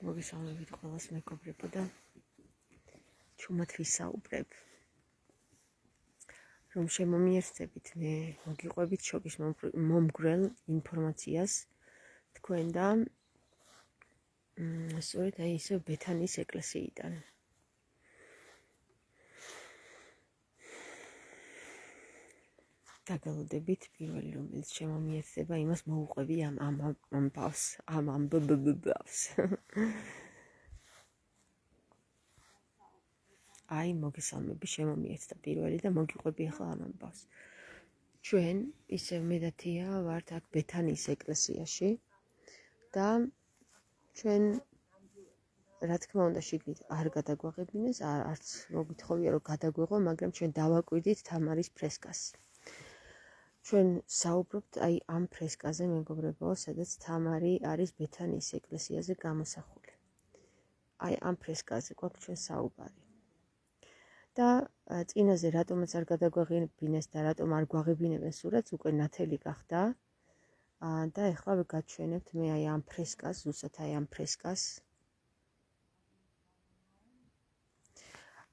მოგესალმებით ყველას მეგობრებო და ჩუმად ვისაუბრებ რომ შემომიერთდებით მე მოგიყვებით შოკის მომგვრელ ინფორმაციას თქვენ და სწორედ აი ისევ ბეთანის ეკლესიიდან დაგალოდებით პირველი რომელიც შემომიერთდება იმას მოუყვები ამ ამბავს ამ ამბავს აი მოგესალმები შემომიერთდა პირველი და მოგიყვები ახლა ამ ამბავს ჩვენ ისევ მე და თია ვართ აქ ბეთანის ეკლესიაში და ჩვენ რა თქმა უნდა შიგნით არ გადაგვაღებინეს არც მოგითხოვია რომ გადაგვეღო მაგრამ ჩვენ დავაკვირდით თამარის ფრესკას ჩვენ საუბრობთ აი ამ ფრესკაზე მეგობრებო, სადაც თამარი არის ბეთანის ეკლესიაზე გამოსახული. აი ამ ფრესკაზე გვაქვს ჩვენ საუბარი. და წინაზე რატომაც არ გადაგვაღებინეს და რატომ არ გვაღებინებენ სურათს უკვე ნათელი გახდა. და ეხლა გაჩვენებთ მე აი ამ ფრესკას, ზუსტად აი ამ ფრესკას.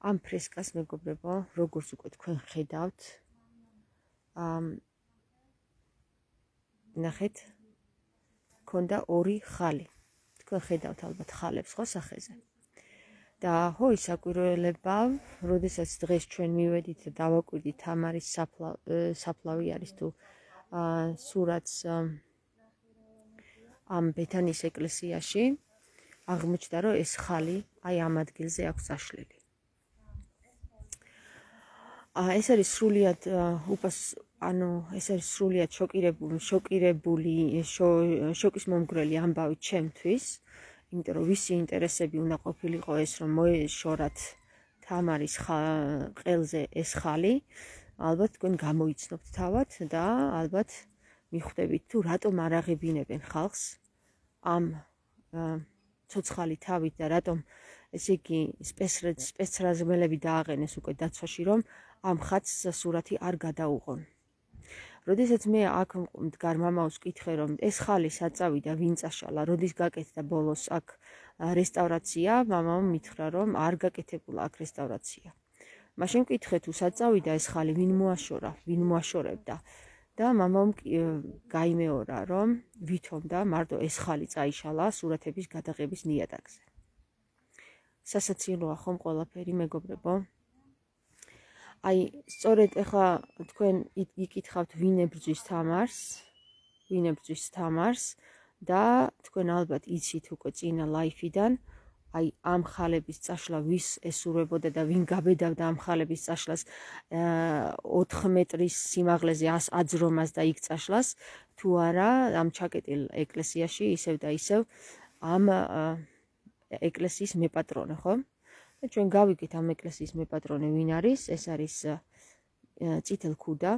ამ ფრესკას მეგობრებო, როგორც უკვე თქვენ ხედავთ, ნახეთ, ქონდა ორი ხალი. თქვენ ხედავთ ალბათ ხალებს ხო სახეზე. და ხო ისაკვირველება, როდესაც დღეს ჩვენ მივედით და დავაკვირდით თამარის საფლავი არის თუ სურათს ამ ბეთანის ეკლესიაში, აღმოჩნდა რომ ეს ხალი აი ამ ადგილზე აქვს აშლილი. ეს არის სრულიად ეს არის სრულიად შოკირებული შოკის მომგვრელი ამბავი ჩემთვის, იმიტომ რომ ვისი ინტერესები უნდა ყოფილიყო ეს რომ მოეშორათ თამარის ყელზე ეს ხალი, ალბათ თქვენ გამოიცნობთ თავად და ალბათ მიხვდებით თუ რატომ არ აღებინებენ ხალხს ამ ცოცხალი თავით და რატომ ესე იგი სპეცრაზმელები დააყენეს უკვე დაცვაში რომ ამ ხატს სურათი არ გადაუღონ. როდესაც მე აქ მდგარ მამაოს ვკითხე რომ ეს ხალი საწავიდა ვინ წაშალა, როდის გაკეთდა ბოლოს აქ რესტავრაცია, მამამ მითხრა რომ არ გაკეთებულა აქ რესტავრაცია. მაშინ ვკითხე თუ საწავიდა ეს ხალი ვინ მოაშორა, ვინ მოაშორებდა და მამამ გაიმეორა რომ ვითომ და მარტო ეს ხალი წაიშალა სურათების გადაღების ნიადაგზე. სასაცილოა ხომ ყველაფერი მეგობრებო? აი, სწორედ ეხლა თქვენ იკითხავთ ვინ ებრძვის თამარს და თქვენ ალბათ იცით უკვე წინა ლაიფიდან აი ამ ხალების წაშლა ვის ესურვებოდა და ვინ გაბედავდა ამ ხალების წაშლას 4 მეტრის სიმაღლეზე აძრომას და იქ წაშლას თუ არა ამ ჩაკეტილ ეკლესიაში ისევ და ისევ ამ ეკლესიის მეპატრონე ხო? და ჩვენ გავიგეთ ამ ეკლესიის მეპატრონე ვინ არის? ეს არის წითელქუდა,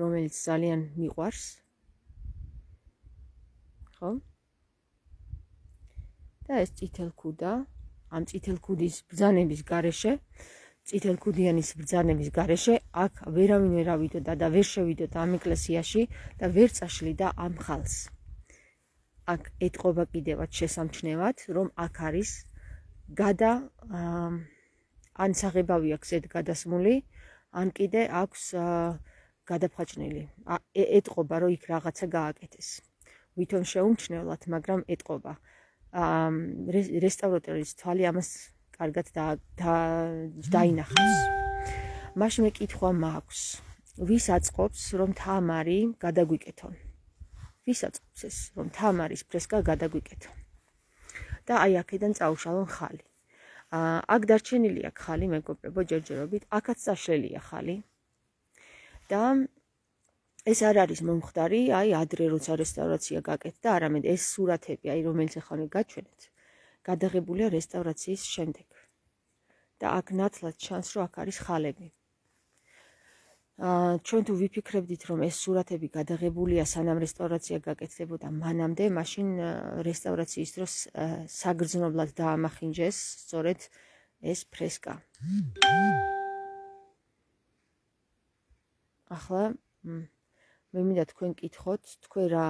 რომელიც ძალიან მიყვარს. ხო? და ეს წითელქუდა, ამ წითელქუდის ბრძანების გარეშე, წითელქუდიანის ბრძანების გარეშე აქ ვერავინ ვერ ავიდოდა და ვერ შევიდოდა ამ ეკლესიაში და ვერ წაშლიდა ამ ხალს. აქ ეტყობა კიდევაც შესამჩნევად, რომ აქ არის ან საღებავი აქვს ეთ გადასმული, ან კიდე აქვს გადაფხაჭნილი. ეტყობა, რომ იქ რაღაცა გააკეთეს. ვითომ შეუმჩნევლად, მაგრამ ეტყობა. რესტავრატორის თვალი ამას კარგად დაინახავს. მაშინ მე კითხვა მაქვს, ვის აწყობს, რომ თამარი გადაგვიკეთონ? ვის აწყობს ეს, რომ თამარის ფრესკა გადაგვიკეთონ? და აი აქედან წაუშალონ ხალი. აქ დარჩენილია ხალი მეგობრებო ჯერჯერობით, აქაც წაშლილია ხალი. და ეს არ არის მომხდარი, აი ადრე როცა რესტავრაცია გაკეთდა, არამედ ეს სურათები, აი რომელიც ახლა გაჩვენეთ, გადაღებულია რესტავრაციის შემდეგ. და აქ ნათლად ჩანს, რომ აქ არის ხალები. ჩვენ თუ ვიფიქრებდით, რომ ეს სურათები გადაღებულია სანამ რესტავრაცია გაკეთდებოდა მანამდე, მაშინ რესტავრაციის დროს საგრძნობლად დაამახინჯეს სწორედ ეს ფრესკა. ახლა მე მინდა თქვენ კითხოთ, თქვენ რა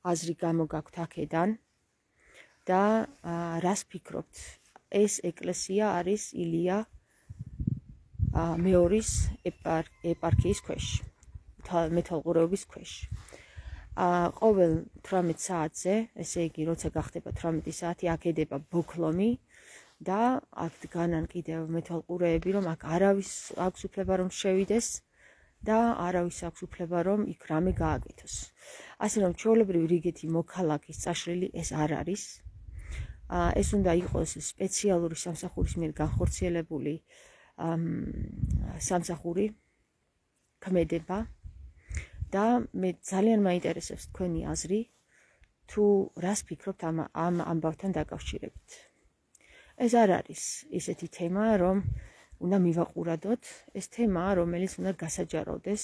აზრი გამოგაქვთ აქედან და რას ფიქრობთ? ეს ეკლესია არის ილია მეორის ეპარქიის ქვეშ, მეთვალყურეობის ქვეშ. ყოველ 18 საათზე, ესე იგი, როცა გახდება 18 საათი, აქ ედება ბოქლომი და აქ დგანან კიდევ მეთვალყურეები, რომ აქ არავის აქვს უფლება რომ შევიდეს და არავის აქვს უფლება რომ იქ რამე გააკეთოს. ასე რომ ჩვეულებრივი რიგეთი მოქალაქის წაშლილი ეს არ არის. ეს უნდა იყოს სპეციალური სამსახურის მიერ განხორციელებული სამსახური ქმედება და მე ძალიან მაინტერესებს თქვენი აზრი თუ რას ფიქრობთ ამ ამბავთან დაკავშირებით. ეს არ არის ისეთი თემა, რომ უნდა მივაყურადოთ, ეს თემაა, რომელიც უნდა გასაჯაროვდეს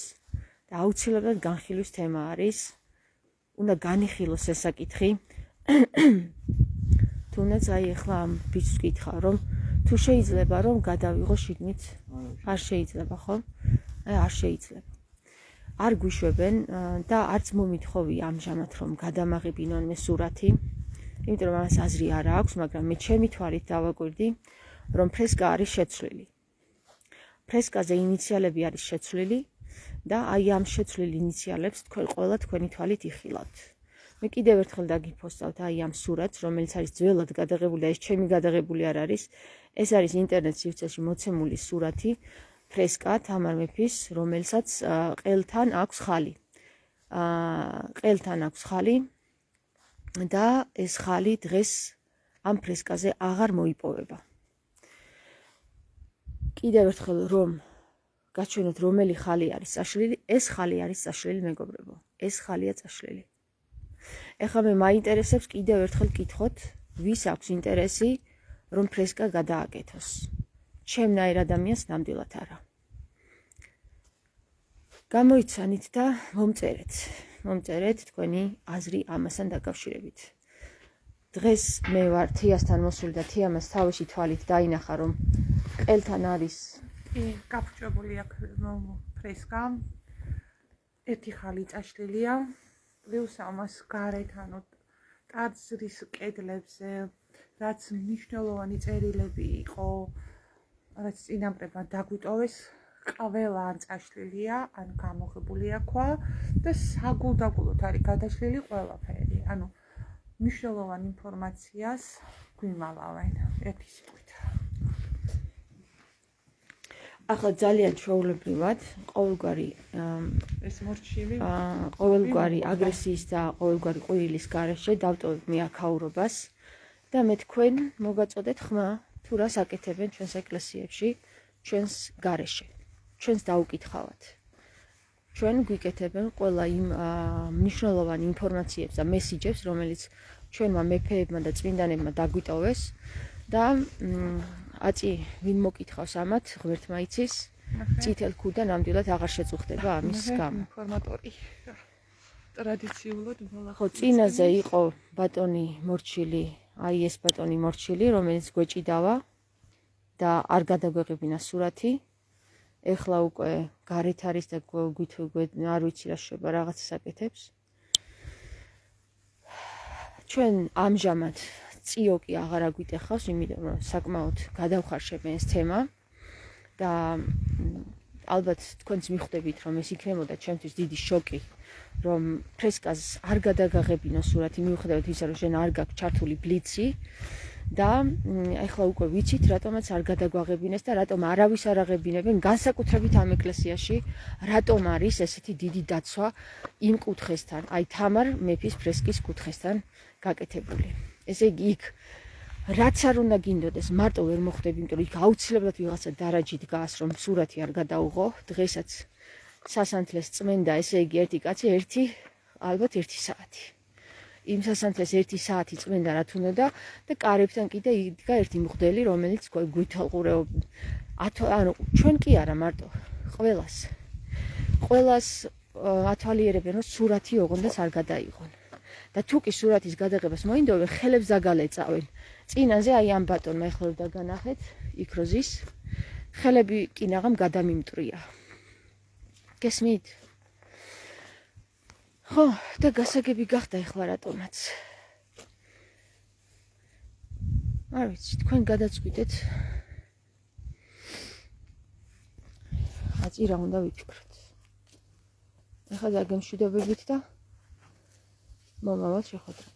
და აუცილებლად განხილვის თემა არის. უნდა განიხილოს ეს საკითხი. თუნდაც აი ახლა ამ ბიჭს ვკითხა, რომ თუ შეიძლება რომ გადავიღო შიგნით, არ შეიძლება, ხო? არ შეიძლება. არ გვიშვებენ და არც მომითხოვი ამჟამად რომ გადამაღებინონ მე სურათი, იმიტომ რომ ამას აზრი არ აქვს, მაგრამ მე ჩემი თვალით დავაკვირდი, რომ ფრესკა არის შეცვლილი. ფრესკაზე ინიციალები არის შეცვლილი და აი ამ შეცვლილ ინიციალებს თქვენ ყველა თქვენი თვალით იხილავთ. მე კიდევ ერთხელ დაგიფოსტავთ აი ამ სურათს, რომელიც არის ძველად გადაღებული და ეს ჩემი გადაღებული არ არის. ეს არის ინტერნეტ სივრცეში მოცემული სურათი ფრესკა თამარ მეფის, რომელსაც ყელთან აქვს ხალი. ყელთან აქვს ხალი და ეს ხალი დღეს ამ ფრესკაზე აღარ მოიპოვება. კიდევ ერთხელ რომ გაჩვენოთ რომელი ხალი არის წაშლილი, ეს ხალი არის წაშლილი მეგობრებო. ეს ხალია წაშლილი. ეხლა მე მაინტერესებს კიდევ ერთხელ კითხოთ, ვის აქვს ინტერესი რომ ფრესკა გადააკეთოს. ჩემნაირ ადამიანს ნამდვილად არა. გამოიცანით და მომწერეთ თქვენი აზრი ამასთან დაკავშირებით. დღეს მე ვარ თიასთან მოსული და თიამას თავისი თვალით დაინახა რომ ყელთან არის გაფრჩებული აქ ფრესკა. ერთი ხალი წაშლილია. პლუს ამას გარეთ, ანუ ტაძრის კედლებზე რაც მნიშვნელოვანი წერილები იყო, რაც წინაპრებმა დაგვიტოვეს, ყველა ან წაშლილია, ან გამოღებულია ქვა და საგულდაგულოდ არის გადაშლილი ყველაფერი. ანუ მნიშვნელოვან ინფორმაციას გვიმალავენ ერთი სიტყვით. ახლა ძალიან ჩვეულებრივად ყოველგვარი ეს მორჩილი ყოველგვარი აგრესიის და ყოველგვარი ყვირილის გარეშე დავტოვებ მე აქაურობას და მე თქვენ მოგაწოდეთ ხმა თუ რას აკეთებენ ჩვენს ეკლესიებში, ჩვენს გარეშე, ჩვენს დაუკითხავად. ჩვენ გვიკეთებენ ყველა იმ მნიშვნელოვან ინფორმაციებს და მესიჯებს, რომელიც ჩვენმა მეფეებმა და წმინდანებმა დაგვიტოვეს და აწი ვინ მოკითხავს ამათ, ღმერთმა იცის, წითელ ქუდა ნამდვილად აღარ შეწუხდება ამის გამო. ინფორმატორი ტრადიციულად ხო, წინაზე იყო ბატონი მორჩილი, აი ეს ბატონი მორჩილი, რომელიც გვეჭიდავა და არ გადაგვეღებინა სურათი. ეხლა უკვე გარეთ არის და არ ვიცი რა შეება რაღაცას აკეთებს. ჩვენ ამჟამად წიოკი აღარ აგვიტეხავს, იმიტომ რომ საკმაოდ გადავხარშებენ ეს თემა და ალბათ თქვენც მიხვდებით რომ ეს იქნებოდა ჩემთვის დიდი შოკი, რომ ფრესკას არ გადაგაღებინო სურათი, მიუხედავად ისა, რომ შენ არ გაქვს ჩართული ბლიცი და ეხლა უკვე ვიცით რატომაც არ გადაგვაღებინეს და რატომ არავის არ აღებინებენ, განსაკუთრებით ამ ეკლესიაში, რატომ არის ესეთი დიდი დაცვა იმ კუთხესთან, აი თამარ მეფის ფრესკის კუთხესთან გაკეთებული. ესე იგი იქ რაც არ უნდა გინდოდეს, მარტო ვერ მოხვდები, იმიტომ რომ იქ აუცილებლად ვიღაცა დარაჯით დგას, რომ სურათი არ გადაუღო. დღესაც სასანთლეს წმენდა, ესე იგი ერთი კაცი, ალბათ 1 საათი. იმ სასანთლეს 1 საათი წმენდა რა თუნდა და კარებთან კიდე იდგა ერთი მღვდელი, რომელიც გვითვალყურეობ. ანუ ჩვენ კი არა მარტო, ყველას ათვალიერებენ, რომ სურათი ოღონდაც არ გადაიღონ. და თუ კი სურათის გადაღებას მოინდობენ, ხელებს დაგალეწავენ. წინაზე აი ამ ბატონმა ეხლა დაგანახეთ, იქ როზის ხელები კინაღამ გადამიმტრია. გესმით? ხო, და გასაგები გახდა ეხლა რატომაც. არ ვიცი, თქვენ გადაწყვიტეთ. აწი რა უნდა ვიფიქროთ. ეხლა დაგემშვიდობებით და მომავალ შეხვედრამდე.